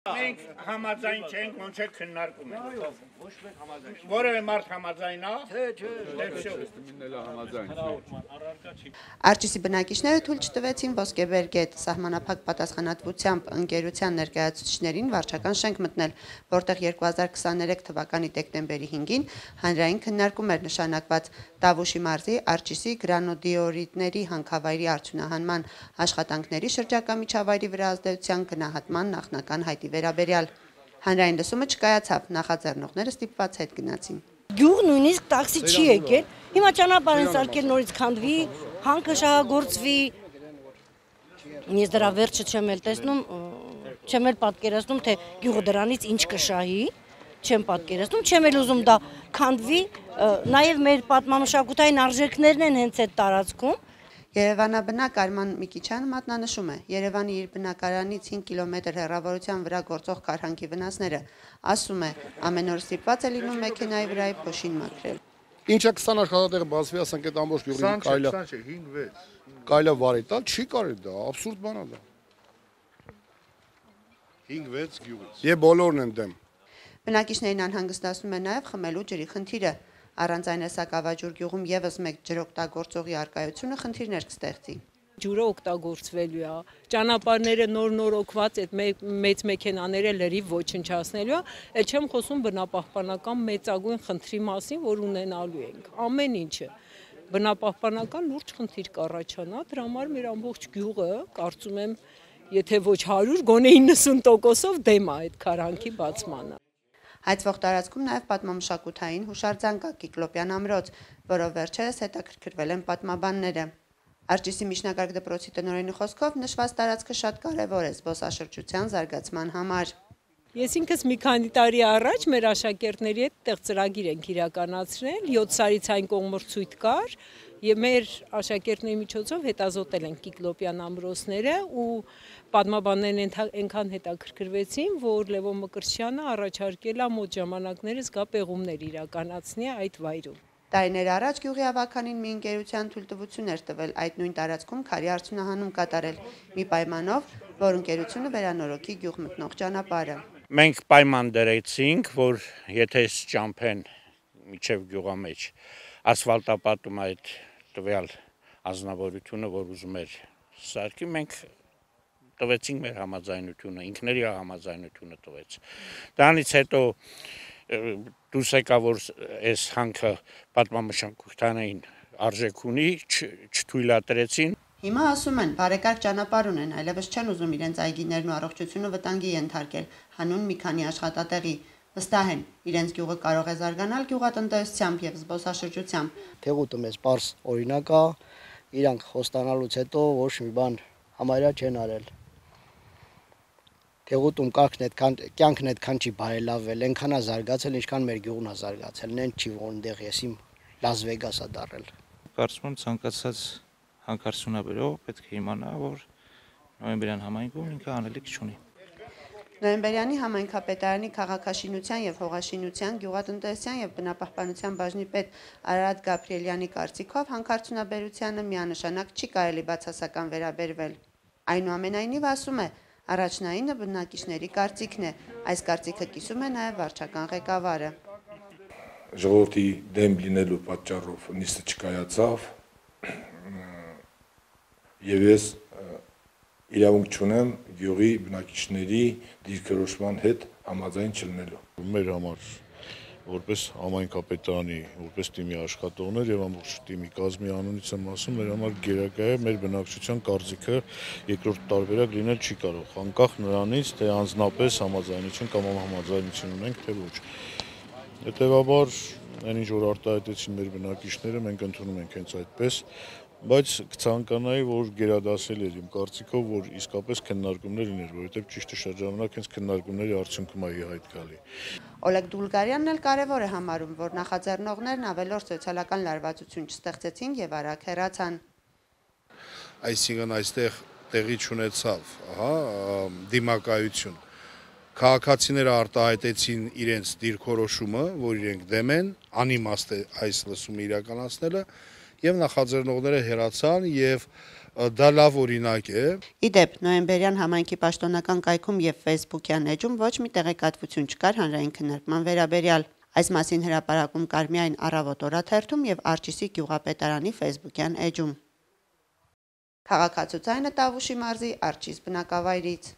Մենք համաձայն չենք, ոնց է քննարկում ենք։ Որևէ մարդ համաձայն է։ Արջիսի բնակիչները թույլ չտվեցին Ոսկեբեր գետ սահմանափակ պատասխանատվությամբ ընկերության ներկայացուցիչներին վարչական շենք մտնել, որտեղ 2023 թվականի դեկտեմբերի 5-ին հանրային քննարկում էր նշանակված Տավուշի մարզի Արջիսի գրանոդիորիդների հանքավայրի արդյունահանման աշխատանքների շրջակա միջավայրի վրա ազդեցության գնահատման նախնական հայտի վերաբերյալ։ Հանրային լսումը չկայացավ, նախաձեռնողները ստիպված հետ գնացին։ Գյուղ նույնիսկ տաքսի չի եկել, հիմա ճանապարհ են սարքել նորից քանդվի, հանքը շահագործվի։ Ես դրա վերջը չեմ էլ տեսնում, չեմ էլ պատկերացնում, թե գյուղը դրանից ինչ կշահի, չեմ պատկերացնում, չեմ էլ ուզում դա քանդվի, նաև մեր պատմամշակութային արժեքներն են հենց այդ տարածքում։ Երևանաբնակ Արման Միկիչյանը մատնանշում է Երևանի իր բնակարանից 5 կիլոմետր հեռավորության վրա գործող քարհանքի վնասները, ասում է ամեն օր ստիպված է լինում մեքենայի վրայի փոշին մաքրել։ Ինչա 20 աշխատատեղ բացվի, ասենք այդ ամբողջ գյուղին կարելի վարի տալ, չի կարելի դա, աբսուրդ բան է դա։ 5-6 գյուղից։ Եվ բոլորն են դեմ։ Բնակիչներին անհանգստացնում է նաև խմելու ջրի խնդիրը։ Առանց այն Սակավաջուր գյուղում եւս մեկ ջրօգտագործողի արկայությունը խնդիրներ կստեղծի։ Ջուրը օգտագործվելու է, ճանապարհները նոր օգված այդ մեծ մեքենաները լրիվ ոչնչացնելու է, այդ չեմ խոսում բնապահպանական մեծագույն խնդրի մասին, որ ունենալու ենք։ Ամեն ինչը բնապահպանական լուրջ խնդիր կառաջանա, դրա համար մեր ամբողջ գյուղը, կարծում եմ, եթե ոչ 100, գոնե 90%-ով դեմ է այդ քարհանքի բացմանը։ Հայցվող տարածքում նաև պատմամշակութային հուշարձան կա Կիկլոպյան ամրոց, որով վերջերս հետաքրքրվել են պատմաբանները։ Արջիսի միջնակարգ դպրոցի տնօրենի խոսքով նշված տարածքը շատ կարևոր է զբոսաշրջության զարգացման համար։ Ես ինքս մի քանի տարի առաջ մեր աշակերտների հետ տեղ ծրագիր ենք իրականացրել, 7 սարից այն կողմրցույթ կար եւ մեր աշակերտների միջոցով հետազոտել են Կիկլոպյան ամրոցները ու պատմաբաններն այնքան հետաքրքրվեցին, որ Լևոն Մկրտչյանը առաջարկել է մոտ ժամանակներս գա պեղումներ իրականացնի այդ վայրում։ Տարիներ առաջ գյուղի ավականին մի ընկերության թույլտվություն էր տվել այդ նույն տարածքում քարի արդյունահանում կատարել, մի պայմանով, որ ընկերությունը վերանորոգի գյուղ մտնող ճանապարհը։ Մենք պայման դրեցինք, որ եթե ճամփեն միջև գյուղամեջ ասֆալտապատում այդ տվյալ ազնվորությունը, որ ուզում էր սարքի, մենք տվեցինք մեր համաձայնությունը, ինքների համաձայնությունը տվեց։ Դրանից հետո դուրս եկա, որ այս հանքը պատմամշակութային արժեք ունի, չթույլատրեցին։ Հիմա ասում են, բարեկարգ ճանապարհ ունեն, այլևս չեն ուզում իրենց այգիներն ու առողջությունը վտանգի ենթարկել, հանուն մի քանի աշխատատեղի։ Վստահ են, իրենց գյուղը կարող է զարգանալ գյուղատնտեսությամբ եւ զբոսաշրջությամբ։ Թեղուտը մեզ պարզ օրինակ է, իրանք խոստանալուց հետո ոչ մի բան համարյա չեն արել։ Թեղուտում կյանքն այդքան չի բարելավվել, այնքան է զարգացել, ինչքան մեր գյուղն է զարգացել, նեն չի որտեղ ես իմ Լաս Վեգաս է դարել։ Կարծում եմ ցանկացած հանքարդյունաբերող պետք է իմանա, որ նոյեմբերյան համայնքում ինքը անելիք չունի։ Նոյեմբերյանի համայնքապետարանի քաղաքաշինության եւ հողաշինության, գյուղատնտեսության եւ բնապահպանության բաժնի պետ Արարատ Գաբրիելյանի կարծիքով հանքարդյունաբերությանը միանշանակ չի կարելի բացասական վերաբերվել։ Այնուամենայնիվ ասում է, առաջնայինը բնակիչների կարծիքն է, այս կարծիքը կիսում է նաև վարչական ղեկավարը։ Ժողովրդի դեմ լինելու պատճառով նիստը չկայացավ եւ ես իրավունք չունեմ գյուղի բնակիչների դիրքորոշման հետ համաձայն չլինելու։ Մեր համար որպես համայնքապետարանի, որպես թիմի աշխատողներ եւ ամբողջ թիմի կազմի անունից եմ ասում, մեր համար գերակա է մեր բնակչության կարծիքը երկրորդ տարբերակ լինել չի կարող, անկախ նրանից, թե անձնապես համաձայնություն կամ համաձայնություն ունենք, թե ոչ։ Հետևաբար, այն ինչ որ արտահայտեցին մեր բնակիչները, մենք ընդունում ենք հենց այդպես, բայց կցանկանայի, որ գերադասել էր իմ կարծիքով, որ իսկապես քննարկումներ լիներ, որովհետև ճիշտ է շրջանակ հենց քննարկումների արդյունքում է հայտ գալի։ Օլեգ Դուլգարյանն էլ կարևոր է համարում, որ նախաձեռնողներն ավելորդ սոցիալական լարվածություն չստեղծեցին եւ արագ հեռացան։ Այսինքն այստեղ տեղի չունեցավ, դիմակայություն։ Քաղաքացիները արտահայտեցին իրենց դիրքորոշումը, որ իրենք դեմ են, անիմաստ է այս լսումը իրականացնելը, եւ նախաձեռնողները հեռացան եւ Դա լավ օրինակ է։ Իդեպ, նոյեմբերյան համայնքի պաշտոնական կայքում եւ Facebook-յան էջում ոչ մի տեղեկատվություն չկար հանրային քննարկման վերաբերյալ։ Այս մասին հրապարակում կար միայն Առավոտ օրաթերթում եւ Արջիսի գյուղապետարանի Facebook-յան էջում։ Քաղաքացուցայինը Տավուշի մարզի Արջիս բնակավայրից։